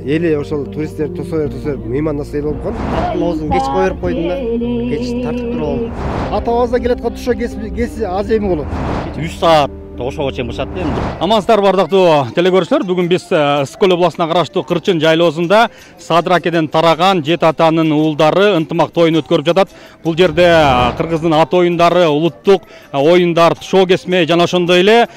эли ошол туристтер тосо берип меймандаса эл болуп калган. Оозун кеч кое берип койдум да. Кеч тартып туруп алдым. Атабыздан келаткан тушо кеси аз эми болот. 3 саат ошого чейин бышат да эмди. Амансыздар бардыктуу телекөрүүчүлөр. Бүгүн биз Скөл областына караштуу Кырчын жайлоосунда Садыр акеден тараган 7 атанын уулдары ынтымак тоюн өткөрүп жатат. Бул жерде кыргыздын ат оюндары, улуттук оюндар, шоу кесме жана ошондой эле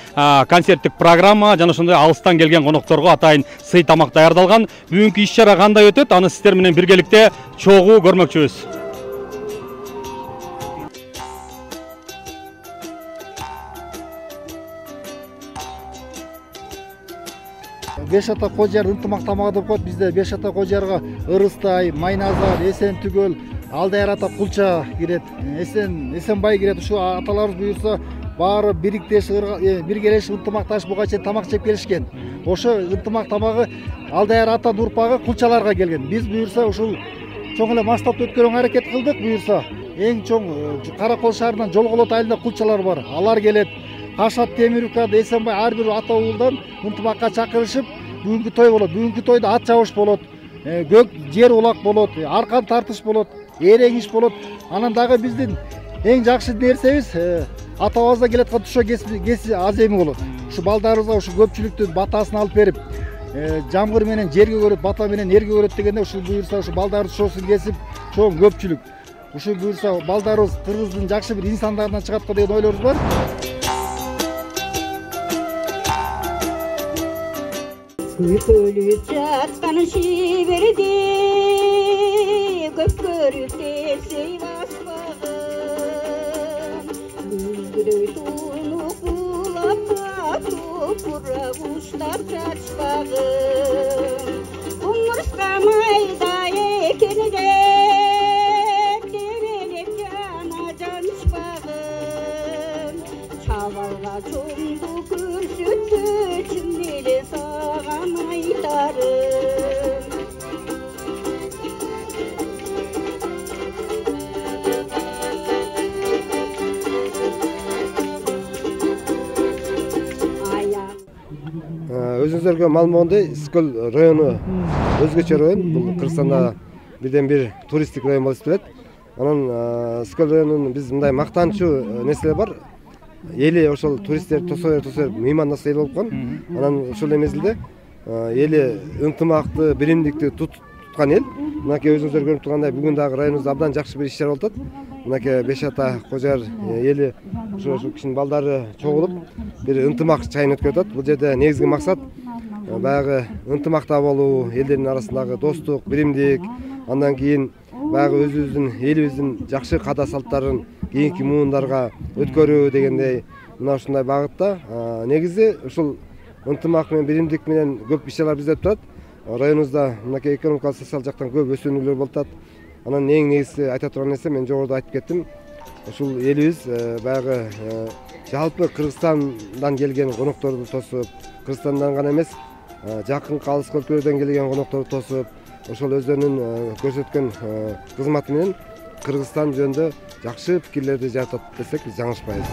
концерттик программа жана ошондой алыстан келген конокторго атайын сый тамак даярдалган. Бүгүнкү иш-чара кандай өтөт? Аны сиздер менен биргеликте чогуу көрмөкчүбүз. Беш ата Кожар ынтымак тамагы деп коет. Бизде Беш ата Кожарга ырыстай, майназар, эсен түгөл, Алдайар ата кулча кирет, Эсенбай кирет. Ушу аталарыбыз буюрса баары биргелешип ынтымакташып буга чейин тамак жеп келишкен. Ошо ынтымак тамагы Алдайар ата урпагы кулчаларга келген. Биз буюрса ушул чоң эле масштабта өткөрүүгө аракет кылдык. Буюрса эң чоң Каракол шаарынан Жолголот айылында кулчалар бар. Алар келет. Кашат, Темирюка, Эсенбай ар бир ата уулдан ынтымакка чакырышып бүгүнкү той болот. Бүгүнкү тойдо ат чабыш болот, көк жер улак болот, аркан тартыш болот, эрең иш болот. Анан дагы биздин эң жакшы нерсебиз атабыздан келаткан тушо кеси аз эми болот. Ушу балдарыбызга ушу көпчүлүктүн батасын алып берип, жамгыр менен жерге көрөт, бата менен эрге көрөт дегенде ушу буюрса ушу балдардын тушосун кесип чоң көпчүлүк. Ушу буюрса балдарыбыз кыргыздын жакшы бир инсандарынан чыгат го деген ойлорубуз бар. Күкөлүп жаткан шиберди көпкөрүп тесей баспагын күзгүдөй тунук булап тупура куштар чачпагын кумурска майда экени деп тебелеп жана жанышпагын чабалга чоңду көрсөткүчүм эле саган айтарым. Өзүңүздөргө маалым болгондой, Скөл району өзгөчө район. Бул Кыргызстанда бирден бир туристтик район болуп эсептелет. Анан Скөл районунун биз мындай мактанчу нерселер бар. Эли ошол туристтер тосо берип меймандаса эл болуп калган. Анан ошол мезгилде эли ынтымакты, биримдикти туткан эл. Мынакей өзүңүздөр көрүп тургандай бүгүн дагы районубузда абдан жакшы бир иш-чара болуп атат. Мынакей Беш ата Кожар эли ошо кишинин балдары чогулуп бир ынтымак чайын өткөрүп атат. Бул жерде негизги максат баягы ынтымакта болуу, элдердин арасындагы достук, биримдик, андан кийин баягы өзүбүздүн элибиздин жакшы каада салттарын кийинки муундарга өткөрүү дегендей мына ушундай багытта негизи ушул ынтымак менен биримдик менен көп иш-чаралар бизде өтүп атат. Районубузда мынакей экономикалык социалдык жактан көп өсүүнүлөр болуп атат. Анан эң негизги айта турган нерсе мен жогоруда айтып кеттим. Ушул элибиз баягы жалпы Кыргызстандан келген конокторду тосуп, Кыргызстандан гана эмес, жакын калыс өлкөлөрдөн келген конокторду тосуп, ошол өздөрүнүн көрсөткөн кызматы менен Кыргызстан жөнүндө жакшы пикирлерди жаратат десек биз жаңылышпайбыз.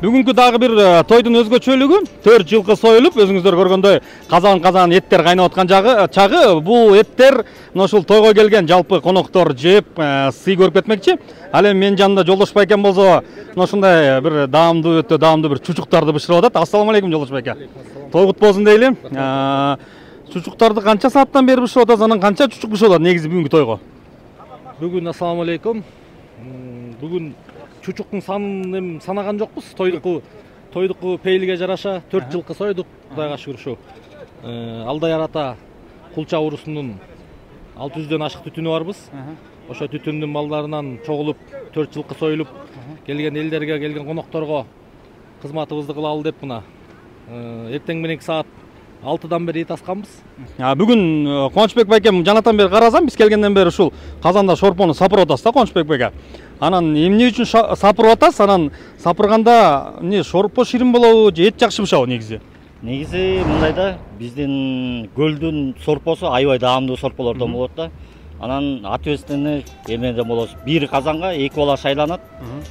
Бүгүнкү дагы бир тойдун өзгөчөлүгү 4 жылкы союлуп, өзүңүздөр көргөндөй казан эттер кайнап аткан чагы. Бул эттер мына ушул тойго келген жалпы коноктор жеп, сый көрүп кетмекчи. Ал эми менин жанымда Жолдош байкем болсо, мына ушундай бир өтө даамдуу бир чучуктарды бышырып атат. Ассаламу алейкум Жолдош байке. Той кут болсун дейли. Чучуктарды канча сааттан бери бышырып атасыз? Анан канча чучук бышырылат негизи бүгүнкү тойго? Бүгүн ассаламу алейкум. Бүгүн чучуктун санын эми санаган жокпуз. Тойдуку пейилге жараша 4 жылкы сойдук. Кудайга шүгүр ушу. Алдайар ата кулча урусунун 600дөн ашык түтүнү барбыз. Ошо түтүндүн балдарынан чогулуп 4 жылкы союлуп келген элдерге, келген конокторго кызматыбызды кылалы деп мына эртең мененки саат 6-дан бери тасканбыз. Бүгүн Кубанычбек байкем жанатан бери карасам, биз келгенден бери ушул казанда шорпону сапырып атасыз да, Кубанычбек байке. Анан эмне үчүн сапырып атасыз? Анан сапырганда эмне шорпо ширин болобу же эт жакшы бышабы негизи? Негизи мындай да, биздин көлдүн сорпосу аябай даамдуу сорполордон болот да. Анан ответственный эмеден болосуз. Бир казанга 2 бала шайланат.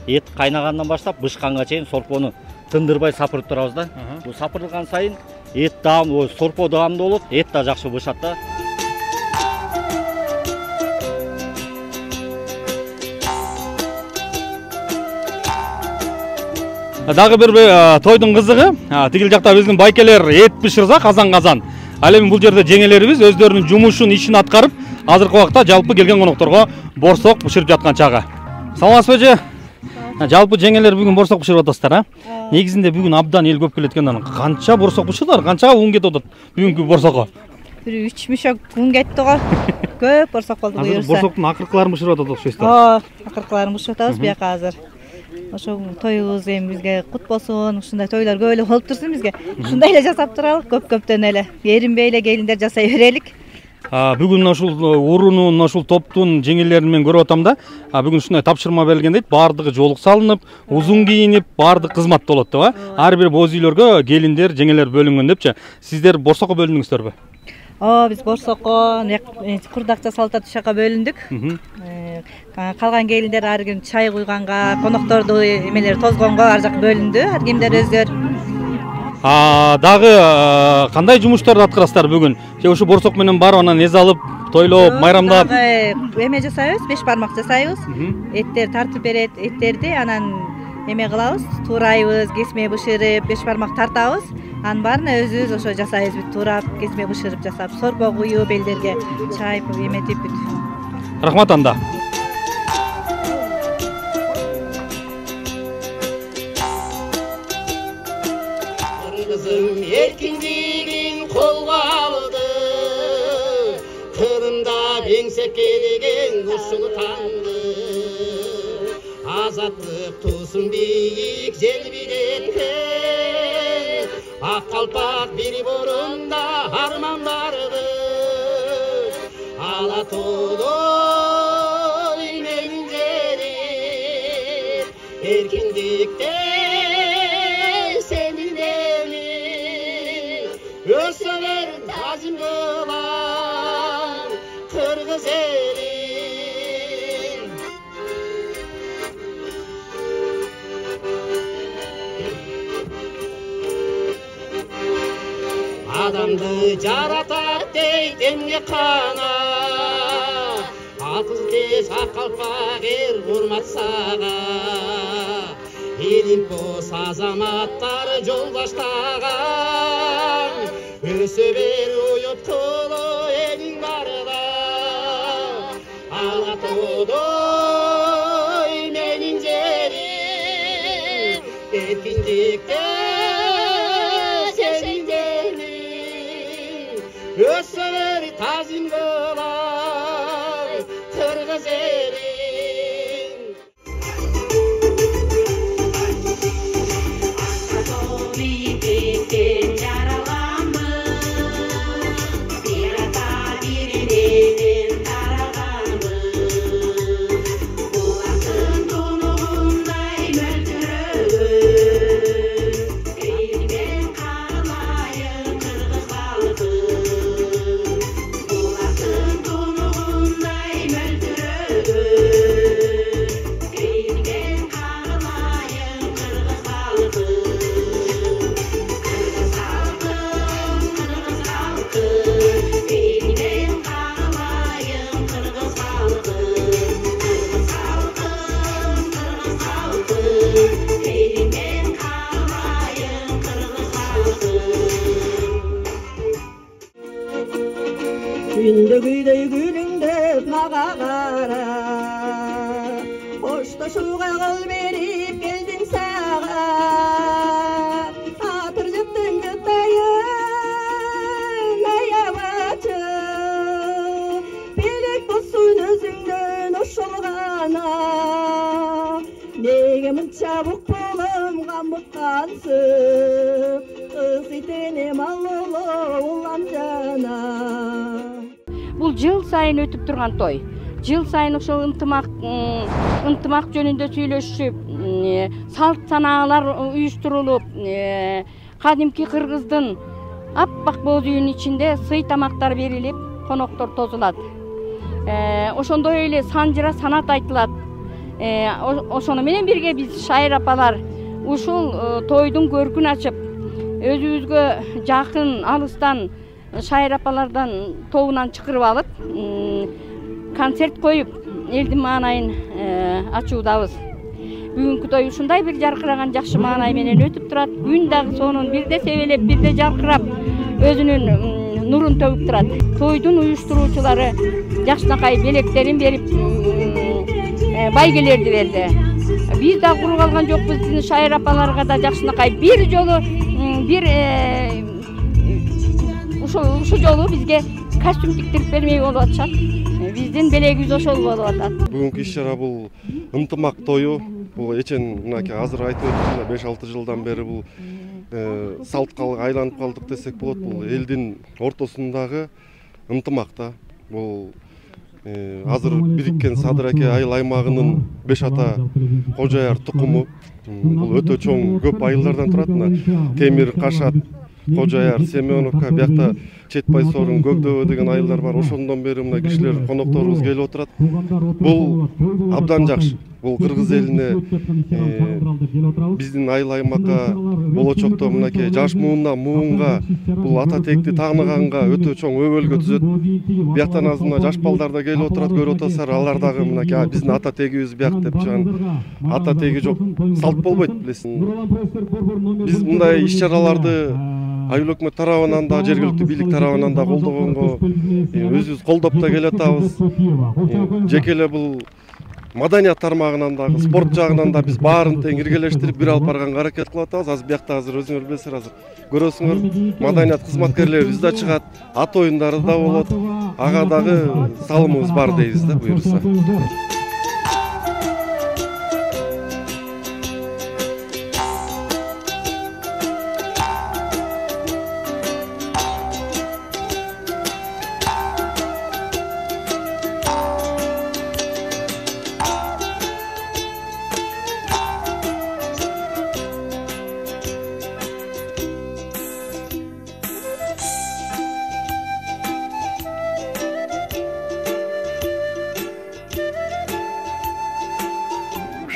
Эт кайнагандан баштап бышканга чейин сорпону тындырбай сапырып турабыз да. Бул сапырылган сайын эт даам, сорпо даамдуу болот, эт да жакшы бышат да. Дагы бир тойдун кызыгы, тигил жакта биздин байкелер эт бышырса казан. Ал эми бул жерде жеңелерибиз өздөрүнүн жумушун, ишин аткарып, азыркы убакта жалпы келген конокторго борсок бышырып жаткан чагы. Саламатсызбы эже? Жалпы жеңелер бүгүн борсок бышырып атасыздар, а? Негизинде бүгүн абдан эл көп келет экен. Канча борсок бышырдыңар? Канчага un кетип атат бүгүнкү борсокко? Бир 3 мешок un кетти го. Көп борсок болду буюрса. Азыр борсоктун акыркыларын бышырып атат окшойсуздар. Акыркыларын бышырып атабыз бияка азыр. Ошо тоюбуз эми бизге кут болсун, ушундай тойлор көп эле болуп турсун бизге. Ушундай эле жасап туралы, көп-көптөн эле. Эринбей эле келиндер жасай берелик. Бүгүн ушул уруунун, ушул топтун жеңелерин мен көрүп атам да. Бүгүн ушундай тапшырма берилген дейт. Баардыгы жолук салынып, узун кийинип, баардык кызмат болот деп, а? Ар бир боз үйлөргө келиндер, жеңелер бөлүнгөн депчи. Сиздер борсокко бөлүндүңүздөрбү? Биз борсокко курдакча салта тушакка бөлүндүк. Калган келиндер ар ким чай куйганга, конокторду эмелер тозгонго ар жак бөлүндү. Ар кимдер өздөр. Дагы кандай жумуштарды аткарасыздар бүгүн? Же ушу борсок менен барып анан эз алып, тойлоп, майрамдап? Эме жасайбыз, 5 бармак жасайбыз. Эттер тартып берет, эттерди анан эме кылабыз, туурайбыз, кесме бышырып, 5 бармак тартабыз. Анын баарын өзүбүз ошо жасайбыз, бүт туурап, кесме бышырып жасап, сорпо куюп, элдерге чай эметип бүт. Рахмат анда. Kızım erkinliğin kolga aldı, Kırım'da bengsek gelgen kuşunu tanıdı. Azatlık tusun büyük zelbiletken, Ak kalpak biri borunda harman vardı. Alatoğlu imenceri, erkinlikte senin evli. Özsever tazim kılan Kırgız elin. Adamdı jaratat deyt emge kana, Akız tez akalpak er hurmat sağa. Elin pos azamattar jol baştagan, Ösö ber uyup tulu elin barda. Alatoğdoy menin jerim, Erkinlikte senin jerin. Ösö ber tazim kılan Kırgız elin. Gündüğüydey gülünde mağa kara, Hoştaşuğa kıl verip geldin sağa. Atır yıttın yıttayın ayavaçı, Bilek bulsun özünden oşulgana. Nege mınça buk bolum gamıtkansın, Kız itenem allolo ulan jana. Бул жыл сайын өтүп турган той. Жыл сайын ошол ынтымак жөнүндө сүйлөшүп, салт санаалар уюштурулуп, кадимки кыргыздын аппак боз үйүнүн ичинде сый тамактар берилип, коноктор тозулат. ошондой эле санжыра санат айтылат. Ошону менен бирге биз шайыр апалар ушул тойдун көркүн ачып, өзүбүзгө жакын алыстан шайыр апалардан тобунан чакырып алып, концерт коюп, элдин маанайын ачуудабыз. Бүгүнкү той ушундай бир жаркыраган жакшы маанай менен өтүп турат. Күн дагы сонун бирде себелеп, бирде жаркырап өзүнүн нурун төгүп турат. Тойдун уюштуруучулары жакшынакай белектерин берип, байгелерди берди. Биз да куруп алган жокпуз. Биздин шайыр апаларга да жакшынакай бир жолу ушу жолу бизге костюм тиктирип бермей болуп атышат. Биздин белегибиз ошол болуп атат. Бүгүнкү иш-чара бул ынтымак тою. Бул эчен мынакей азыр айтып өттүм, 5-6 жылдан бери бул салтка айланып калдык десек болот. Бул элдин ортосундагы ынтымак да. Бул азыр бириккен Садыраке айыл аймагынын 5 ата Кожояр тукуму. Бул өтө чоң көп айылдардан турат. Темир, Кашат, Кожояр, Семеновка, биякта Четбай Сорун, Көкдөбө деген айылдар бар. Ошондон бери мына кишилер, конокторубуз келип отурат. Бул абдан жакшы. Бул кыргыз элине биздин айыл аймакка болочокто мынакей жаш муунга бул ата текти тааныганга өтө чоң өбөлгө түзөт. Бияктан азыр мына жаш балдар да келип отурат, көрүп атасыздар. Алар дагы мынакей биздин ата тегибиз бияк деп ата теги жок, салт болбойт билесиң. Биз мындай иш-чараларды айыл өкмөт тарабынан да, жергиликтүү бийлик тарабынан да колдогонго өзүбүз колдоп да келатабыз. Жеке эле бул маданият тармагынан дагы, спорт жагынан да биз баарын тең иргелештирип бир алып барганга аракет кылып атабыз. Азыр биякта өзүңөр билесиңер, азыр көрөсүңөр, маданият кызматкерлерибиз да чыгат, ат оюндары да болот. Ага дагы салымыбыз бар дейбиз да, буюрса.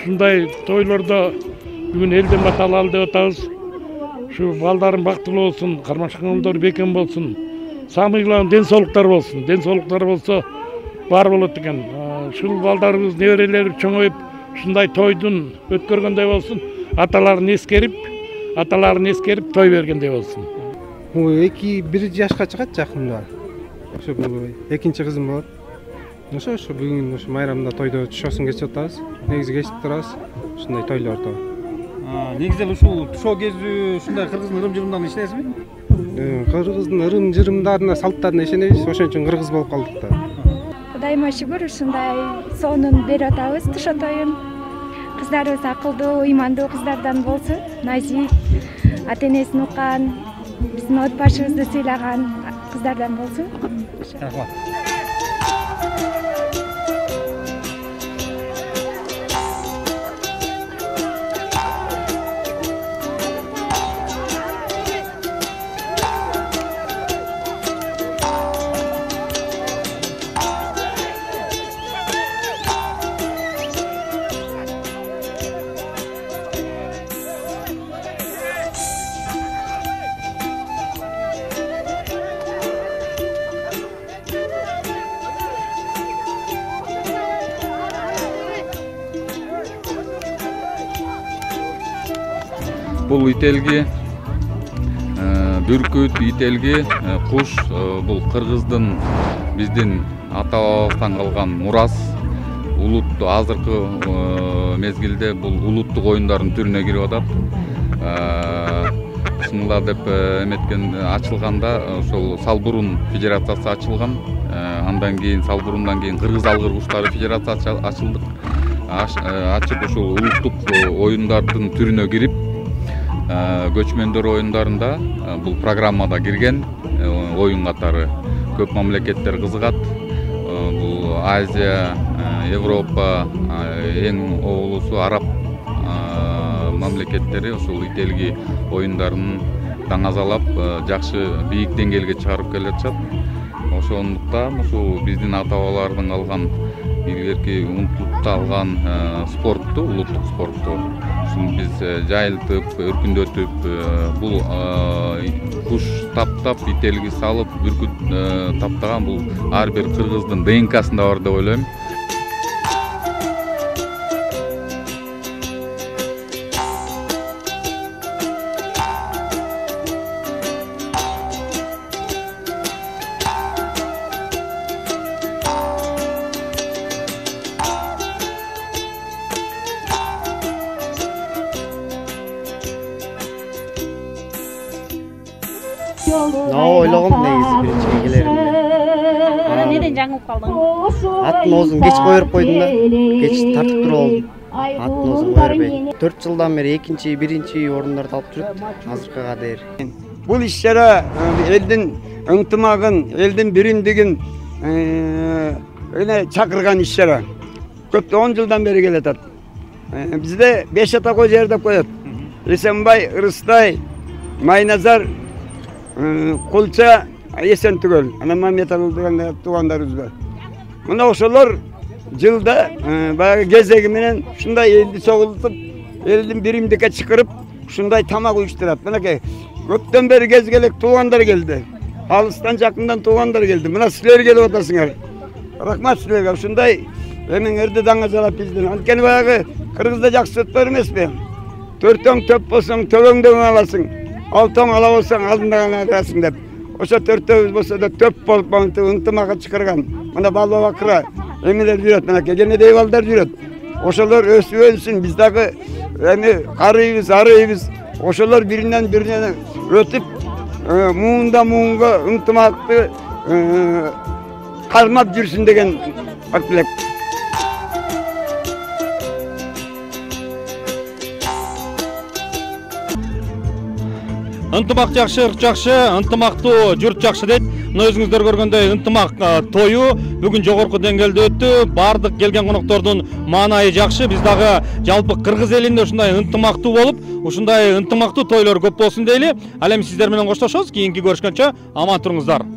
Ушундай тойлордо бүгүн элден баталалы деп атабыз. Ушу балдарың бактылуу болсун, кармашкаңдар бекем болсун. Самый главный ден соолуктар болсун. Ден соолуктар болсо бар болот экен. Ушул балдарыбыз, неберелери чоңоюп, ушундай тойдун өткөргөндөй болсун. Аталарын эскерип той бергендей болсун. Бир жашка чыгат жакында. Ошо экинчи кызым болот. Ошо бүгүн ошо майрамда тойдо тушоосун кечип атабыз. Негизи кечип турабыз ушундай тойлордо. Негизи ушул тушоо кезүү ушундай кыргыздын ырым-жырымдарына ишенесизби? Кыргыздын ырым-жырымдарына, салттарына ишенебиз, ошон үчүн кыргыз болуп калдык да. Кудайыма шүгүр, ушундай сонун берип атабыз тушоо тоюн. Кыздарыбыз акылдуу, ыймандуу кыздардан болсун, назик, ата-энесин уккан, биздин от башыбызды сыйлаган кыздардан болсун. Рахмат. Бул ителги, бүркүт, ителги, куш бул кыргыздын биздин ата бабабыздан калган мурас. Улуттуу азыркы мезгилде бул улуттук оюндардын түрүнө кирип атат. Чынында деп эметкен ачылганда ошол Салбурун федерациясы ачылган. Андан кийин Салбурундан кийин Кыргыз алгыр куштары федерациясы ачылды. Ачып ошол улуттук оюндардын түрүнө кирип көчмөндөр оюндарында бул программада кирген оюн катары көп мамлекеттер кызыгат. Бул Азия, Европа, эң оолусу араб мамлекеттери ошол ителги оюндарын даңазалап жакшы бийик деңгээлге чыгарып келе жатышат. ошондуктан ушул биздин ата бабалардын алган илгерки умтулуп алган спортту, улуттук спортту ушуну биз жайылтып, өркүндөтүп, бул куш таптап, ителги салып, бүркүт таптаган бул ар бир кыргыздын ДНКсында бар деп ойлойм. Ойлогом негизи биринчиге келерим. Неден жаңылып калдың? Аттын оозун кеч койдуруп койдум да, кеч тартып туруп алдым. Аттын оозун кое бербей. 4 жылдан бери экинчи, биринчи орундарды алып жүрүп, азыркыга дейин. Бул иш-чара элдин ынтымагын, элдин биримдигин чакырган иш-чара. Көп 10 жылдан бери келатат. Бизде 5 ата кой жер деп коет. Эсенбай, Ырыстай, Майназар, Кулча, Эсен түгөл. Анан Мамметалы деген туугандарыбыз бар. Мына ошолор жылда баягы кезеги менен ушундай элди чогултуп, элдин биримдикке чакырып, ушундай тамак уюштурат. Мынакей көптөн бери кезгелек туугандар келди. Алыстан жакындан туугандар келди. Мына силер келип атасыңар. Рахмат силерге. Ушундай эмеңерди даңазалап биздин. Анткени баягы кыргызда жакшы сөз бар эмеспи? Төртөң төп болсоң төлөңдөн аласың. Алтоң ала болсоң алдыңдан аласың деп. Ошо төртөөбүз болсо да төп болуп ынтымакка чакырган. Мына балба бакыра эмелер жүрөт, мынакей кенедей балдар жүрөт. Ошолор өсүп өнсүн, биз дагы эми карыйбыз, арыйбыз. Ошолор биринен бирине өтүп, муунда муунга ынтымакты кармап жүрсүн деген тилек. Ынтымак жакшы, ырк жакшы, ынтымактуу журт жакшы дейт. Мына өзүңүздөр көргөндөй ынтымак тою бүгүн жогорку деңгээлде өттү. Бардык келген коноктордун маанайы жакшы. Биз дагы жалпы кыргыз элинде ушундай ынтымактуу болуп, ушундай ынтымактуу тойлор көп болсун дейли. Ал эми сиздер менен коштошобуз. Кийинки көрүшкөнчө аман туруңуздар.